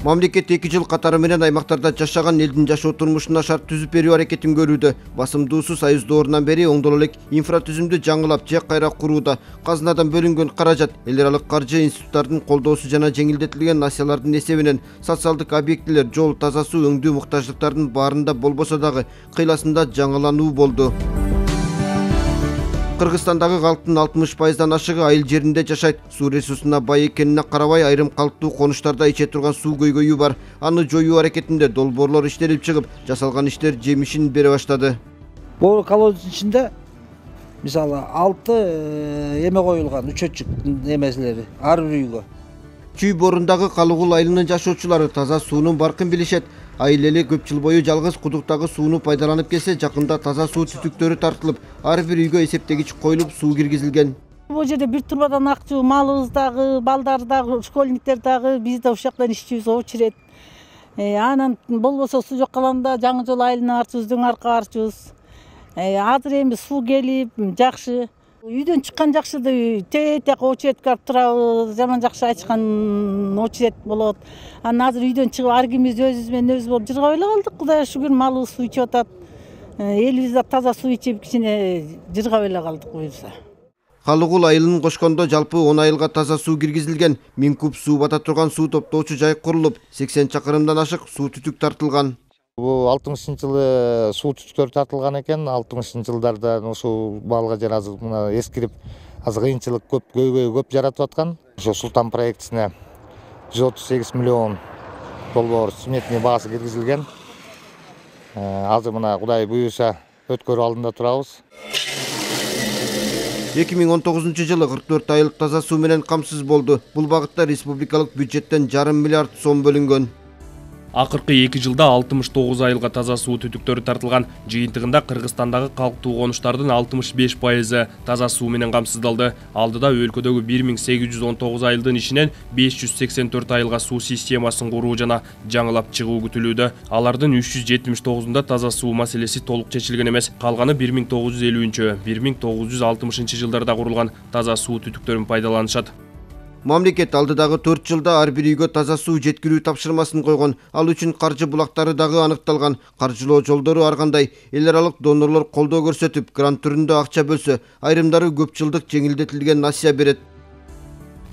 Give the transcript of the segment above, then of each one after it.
Мамлекет 2 жыл катары менен аймактарда жашаган элдин жашоо турмушуна шарт түзүп берүү аракетин көрүүдө. Басымдуусу Союз доорунан бери оңдоло элек инфратүзүмдү жаңылап же кайра курууда. Казынадан бөлүнгөн каражат эл аралык каржы институттарынын колдоосу жана жеңилдетилген насиялардын эсебинен социалдык объектилер, жол, таза суу өңдүү муктаждыктардын баарында болбосо дагы кыйласында жаңылануу болду. Кыргызстандагы калктын 60%дан ашыгы айыл жеринде жашайт. Суу ресурсуна бай экенине карабай айрым калктуу конуштарда иче турган суу көйгөйү бар. Аны жоюу аракетинде долбоорлор иштелип чыгып, жасалган иштер жемишин бере баштады. Бул колоддун ичинде мисалы 6 эме коюлган, үчөтчүк эмеселери ар бир үйгө. Чүй борундагы Калыгул айылынын жашоочулары таза суунун баркын билишет. Айыл эли көп жыл бою жалгыз кудуктагы сууну пайдаланып келсе, жакында таза суу түтүктөрү тартылып, ар бир үйгө эсептегич коюлуп, суу киргизилген. Бул жерде бир турбадан акчу, малыбыз дагы, балдар дагы, школьниктер дагы, биз да ушул жактан иччүбүз, очерет. Анан болбосо суу жок калганда жаңы жол айылына барчубуз, дөң арка барчубуз. Азыр эми суу келип, жакшы. Үйдөн чыккан жакшы, тетек очеретке барып турабыз, жаман жакшы ачкан очерет болот. Анан азыр үйдөн чыгып ар кимибиз өзүбүз менен өзүбүз болуп жыргап эле калдык. Кудайга шүгүр, малыбыз суу ичип атат. Элибиз да таза суу ичип, кичине жыргап эле калдык буюрса. Калыгул айылын кошкондо жалпы 10 айылга таза суу киргизилген. 1000 куб суу бата турган суу топтоочу жай курулуп, 80 чакырымдан ашык суу түтүк тартылган. Бул 60-жылы суу түтүктөр тартылган экен. 60-жылдарда ушул балга жер азыр мына эскирип, азыр кыйынчылык көп, көйгөй көп жаратып аткан. Ошо Султан проектисине 138 миллион доллар сметный баасы киргизилген. Азыр мына Кудай буюрса өткөрүү алдында турабыз. 2019 жылы 44 айылык таза суу менен камсыз болду. Бул багытта республикалык бюджеттен жарым миллиард сом бөлүнгөн. Акыркы 2 жылда 69 айылга таза суу түтүктөрү тартылган. Жыйынтыгында Кыргызстандагы калктуу конуштардын 65% таза суу менен камсыздалды. Алдыда өлкөдөгү 1819 айылдын ичинен 584 айылга суу системасын куруу жана жаңылап чыгуу күтүлүүдө. Алардын 379-да таза суу маселеси толук чечилген эмес. Калганы 1950-1960 жылдарда курулган таза суу түтүктөрүн пайдаланышат. Мамлекет алдыдагы 4 жылда ар бир үйгө таза суу жеткирүү тапшырмасын койгон. Ал үчүн каржы булактары дагы аныкталган. Каржылоо жолдору ар кандай. Эл аралык донорлор колдоо көрсөтүп, грант түрүндө акча бөлсө, айрымдары көп жылдык жеңилдетилген насыя берет.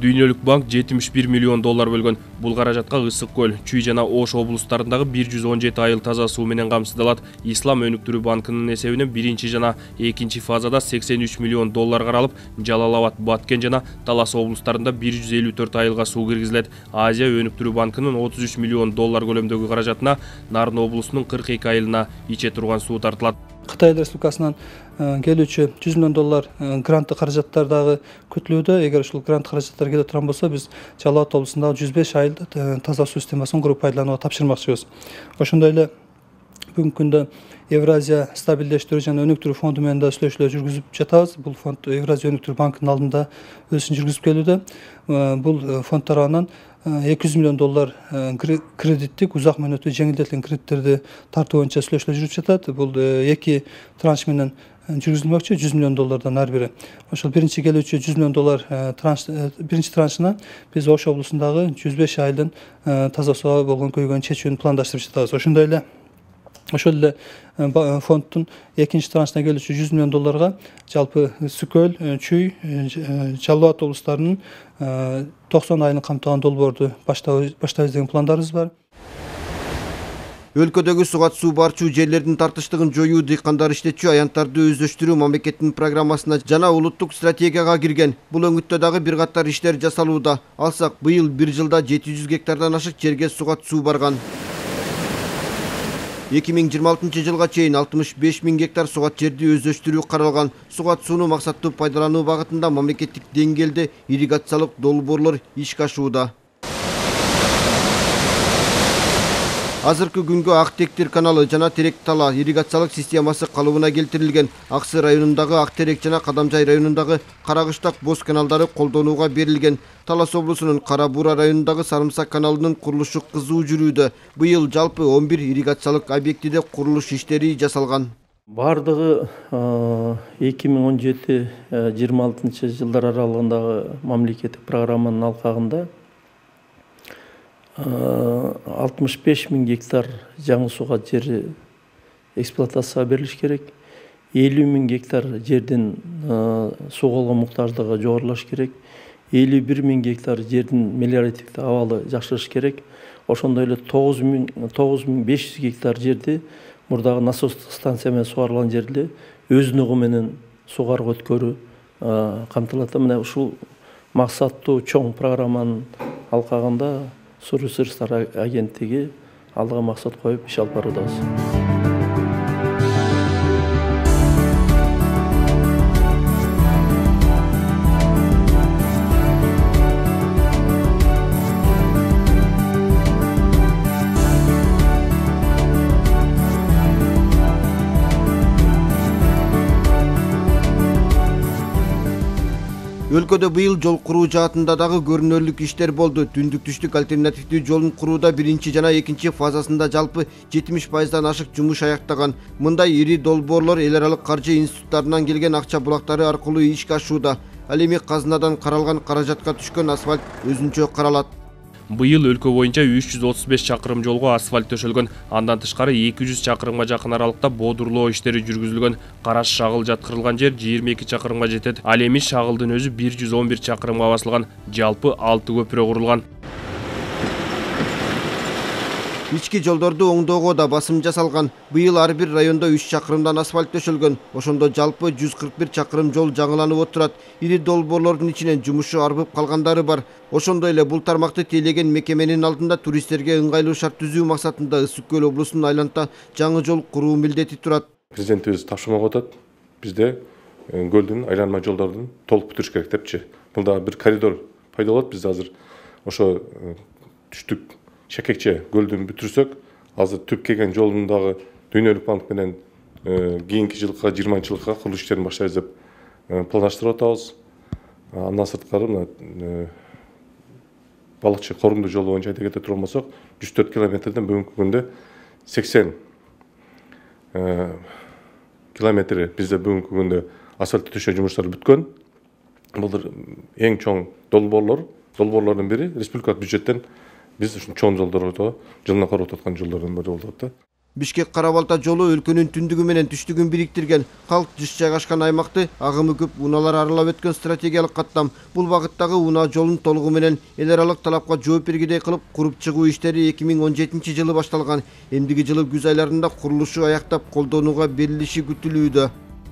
Дүйнөлүк банк 71 миллион доллар бөлгөн. Бул каражатка Ысык көл, Чүй жана Ош облустарындагы 117 айыл таза суу менен камсыздалат. Ислам өнүктүрүү банкынын эсебинен биринчи жана экинчи фазада 83 миллион доллар каралып, Жалал Абад, Баткен жана Талас облустарында 154 айылга суу киргизилет. Азия өнүктүрүү банкынын 33 миллион доллар көлөмдөгү каражатына Нарын облусунун 42 айылына иче турган суу тартылат. Кытай Республикасынан келүүчү 100 миллион доллар грант каражаттар дагы күтүлүүдө. Эгер ушул грант каражаттар келе турган болсо, биз Жалал Абад облусундагы 105 айылды таза суу системасын куруп пайдаланууга тапшырмакчыбыз. Ошондой эле бүгүнкү күндө Евразия стабилдештирүү жана өнүктүрүү фонду менен да сүйлөшүүлөр жүргүзүп жатабыз. Бул фонд Евразия өнүктүрүү банкынын алдында өз ишин жүргүзүп келүүдө. Бул фонд тарабынан 200 миллион доллар кредиттик узак мөөнөттүү жеңилдетилген кредиттерди тартуу боюнча сүйлөшүүлөр жүрүп жатат. Бул 2 транш менен жүргүзүлмөкчү, 100 миллион доллардан ар бири. Ошол биринчи келүүчү 100 миллион доллар биринчи траншына биз Ош облусундагы 105 айылдын таза сууга болгон көйгөйүн чечүүнү пландаштырып жатабыз. Ошондой эле фонддун экинчи траншына келүүчү 100 миллион долларга жалпы Ысык көл, Чүй, Жалал Абад облустарынын 90 айылын камтыган долбоорду баштайбыз деген пландарыбыз бар. Өлкөдөгү сугат суу барчу жерлердин тартыштыгын жоюу, дыйкандар иштетчү аянттарды өздөштүрүү мамлекеттин программасына жана улуттук стратегияга кирген. Бул өңүттө дагы бир катар иштер жасалууда. Алсак, быйыл бир жылда 700 гектардан ашык жерге сугат суу барган. 2026 жылга чейин 65 000 гектар сугат жерди өздөштүрүү каралган. Сугат сууну максаттуу пайдалануу багытында мамлекеттик деңгээлде ирригациялык долбоорлор ишке ашууда. Азыркы күнгө Ак Тектир каналы жана Терек Тала ирригациялык системасы калыбына келтирилген. Аксы районундагы Ак Терек жана Кадамжай районундагы Карагыштак Боз каналдары колдонууга берилген. Талас облусунун Кара Буура районундагы Сарымсак каналынын курулушу кызуу жүрүүдө. Быйыл жалпы 11 ирригациялык объектиде курулуш иштери жасалган. Бардыгы 2017-26 жылдар аралыгындагы мамлекеттик программанын алкагында 65 000 гектар жаңы суга жер эксплуатацияга берилиш керек. 50 000 гектар жердин суга болгон муктаждыгы жогорулаш керек. 51 000 гектар жердин мелиоративдик абалы жакшырыш керек. Ошондой эле 9500 гектар жерди мурдагы насостук станция менен сугарылган жерди өзүнүгү менен сугарып өткөрүү камтылат. Мына ушул максаттуу чоң программанын алкагында Суу ресурстары агенттиги алдыга максат коюп иш алып баруудабыз. Өлкөдө быйыл жол куруу жаатында дагы көрүнөрлүк иштер болду. Түндүк-түштүк альтернативдүү жолун курууда биринчи жана экинчи фазасында жалпы 70%дан ашык жумуш аяктаган. Мындай ири долбоорлор эл аралык каржы институттарынан келген акча булактары аркылуу ишке ашууда. Ал эми казынадан каралган каражатка түшкөн асфальт өзүнчө каралат. Быйыл өлкө боюнча 335 чакырым жолго асфальт төшөлгөн. Андан тышкары 200 чакырымга жакын аралыкта бодурлоо иштери жүргүзүлгөн. Караш шагыл жаткырылган жер 22 чакырымга жетет. Ал эми шагылдын өзү 111 чакырымга басылган. Жалпы 6 көпүрө курулган. Ички жолдорду оңдоого да басым жасалган. Быйыл ар бир райондо 3 чакырымдан асфальт төшөлгөн. Ошондо жалпы 141 чакырым жол жаңыланып отурат. Ири долбоорлордун ичинен жумушу арбып калгандары бар. Ошондой эле бул тармакты тейлеген мекеменин алдында туристтерге ыңгайлуу шарт түзүү максатында Ысык көл облусунун айланта жаңы жол куруу милдети турат. Президентибиз тапшырма коюп атат. Бизде көлдүн айланма жолдордун толук бүтүрүш керек депчи. Бул да бир коридор пайда болот. Биз азыр ошо түштүк Шакекче көлдүн бүтүрсөк, азыр түп келген жолундагы Дүйнөлүк банк менен кийинки жылга 20-жылга курулуш иштерин баштайбыз деп пландаштырып атабыз. Андан сырткары мына балыкчы корумдуу жолу боюнча айта кете турган болсок, 104 километрден бүгүнкү күндө 80 километри бизде бүгүнкү күндө асфальт төшөө жумуштары бүткөн. Бул эң чоң долбоорлордун бири республикалык бюджеттен биз ушул чоң жолдорду жылына карап аткан жолдордун бири болуп атат. Бишкек-Кара-Балта жолу өлкөнүн түндүгү менен түштүгүн бириктирген, калк жыш жайгашкан аймакты агымы көп унаалар аралап өткөн стратегиялык каттам. Бул багыттагы унаа жолун толугу менен эл аралык талапка жооп бергидей кылып куруп чыгуу иштери 2017 жылы башталган. Эмдиги жылы күз айларында курулушу аяктап колдонууга берилиши күтүлүүдө.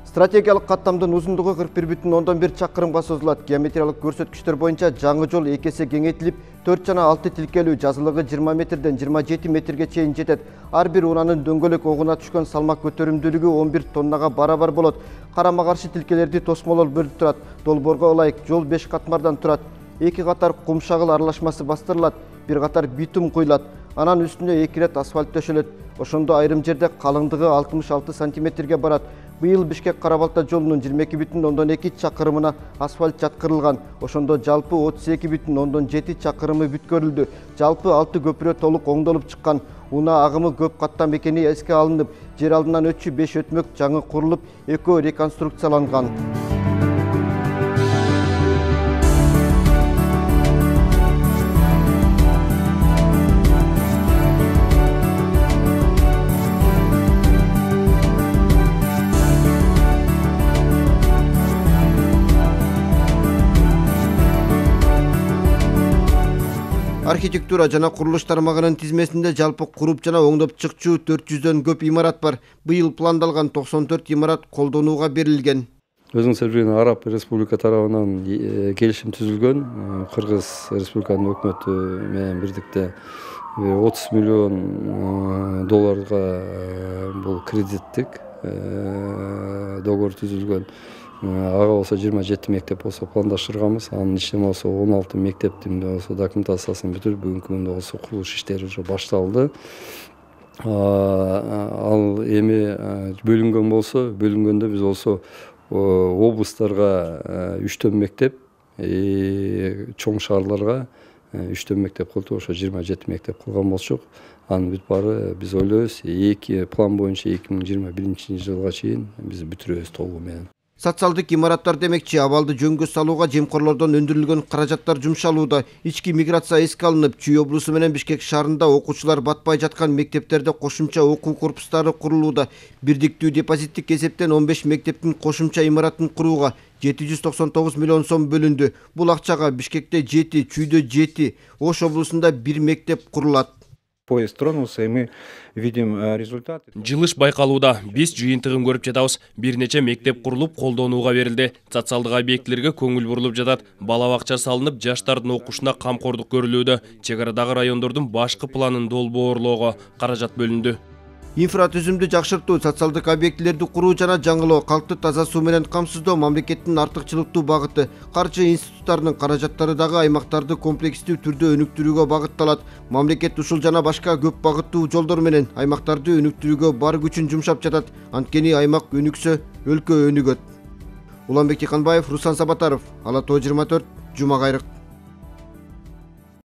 Стратегиялык каттамдын узундугу 41,1 чакырымга созулат. Геометриялык көрсөткүчтөр боюнча жаңы жол 2 эсе кеңейтилип, 4 жана 6 тилкелүү, жазылыгы 20 метрден 27 метрге чейин жетет. Ар бир унаанын дөңгөлөк огуна түшкөн салмак көтөрүмдүүлүгү 11 тоннага барабар болот. Карама-каршы тилкелерди тосмолор бөлүп турат. Долбоорго ылайык жол 5 катмардан турат. 2 катар кум шагыл аралашмасы бастырылат, 1 катар битум куйлат. Анан үстүнө 2 рет асфальт төшөлөт. Ошондо айрым жерде калыңдыгы 66 сантиметрге барат. Быйыл Бишкек-Кара-Балта жолунун 22,2 чакырымына асфальт жаткырылган. Ошондо жалпы 32,7 чакырымы бүткөрүлдү. Жалпы 6 көпүрө толук оңдолуп чыккан. Унаа агымы көп каттам экени эске алынып, жер алдынан өтчү 5 өтмөк жаңы курулуп, экөө реконструкцияланган. Архитектура жана курулуш тармагынын тизмесинде жалпы куруп жана оңдоп чыкчу 400дөн көп имарат бар. Быйыл пландалган 94 имарат колдонууга берилген. Өзүңүздөр билген Араб Республика тарабынан келишим түзүлгөн. Кыргыз Республиканын өкмөтү менен бирдикте 30 миллион долларга бул кредиттик договор түзүлгөн. Ага болсо 27 мектеп болсо пландаштырганбыз. Анын ичинде болсо 16 мектептин болсо документациясын бүтүрүп, бүгүнкү күндө болсо курулуш иштери уже башталды. Ал эми бөлүнгөн болсо, бөлүнгөндө биз болсо облустарга 3 мектеп, чоң шаарларга 3 мектеп кылдык, ошо 27 мектеп кылган болчук. Анын бүт баары биз ойлойбуз, план боюнча 2021 жылга чейин биз бүтүрөбүз толугу менен. Социалдык имараттар демекчи, абалды жөнгө салууга жемкорлордон өндүрүлгөн каражаттар жумшалууда. Ички миграция эске алынып, Чүй облусу менен Бишкек шаарында окуучулар батпай жаткан мектептерде кошумча окуу корпустары курулууда. Бирдиктүү депозиттик эсептен 15 мектептин кошумча имаратын курууга 799 миллион сом бөлүндү. Бул акчага Бишкекте 7, Чүйдө 7, Ош облусунда 1 мектеп курулат. Поезд тронулся, и мы видим результат. Жылыш байкалууда. Биз жыйынтыгын көрүп жатабыз. Бир нече мектеп курулуп, колдонууга берилди. Социалдык объектилерге көңүл бурулуп жатат. Бала бакча салынып, жаштардын окушуна камкордук көрүлүүдө. Чек арадагы райондордун башкы планын долбоорлоого каражат бөлүндү. Инфратүзүмдү жакшыртуу, социалдык объектилерди куруу жана жаңылоо, калкты таза суу менен камсыздоо мамлекеттин артыкчылыктуу багыты. Каржы институттарынын каражаттары дагы аймактарды комплекстүү түрдө өнүктүрүүгө багытталат. Мамлекет ушул жана башка көп багыттуу жолдор менен аймактарды өнүктүрүүгө бар күчүн жумшап жатат. Анткени аймак өнүксө, өлкө өнүгөт. Уланбек Тиканбаев, Руслан Сабатаров, Ала Тоо 24, Жума Кайрык.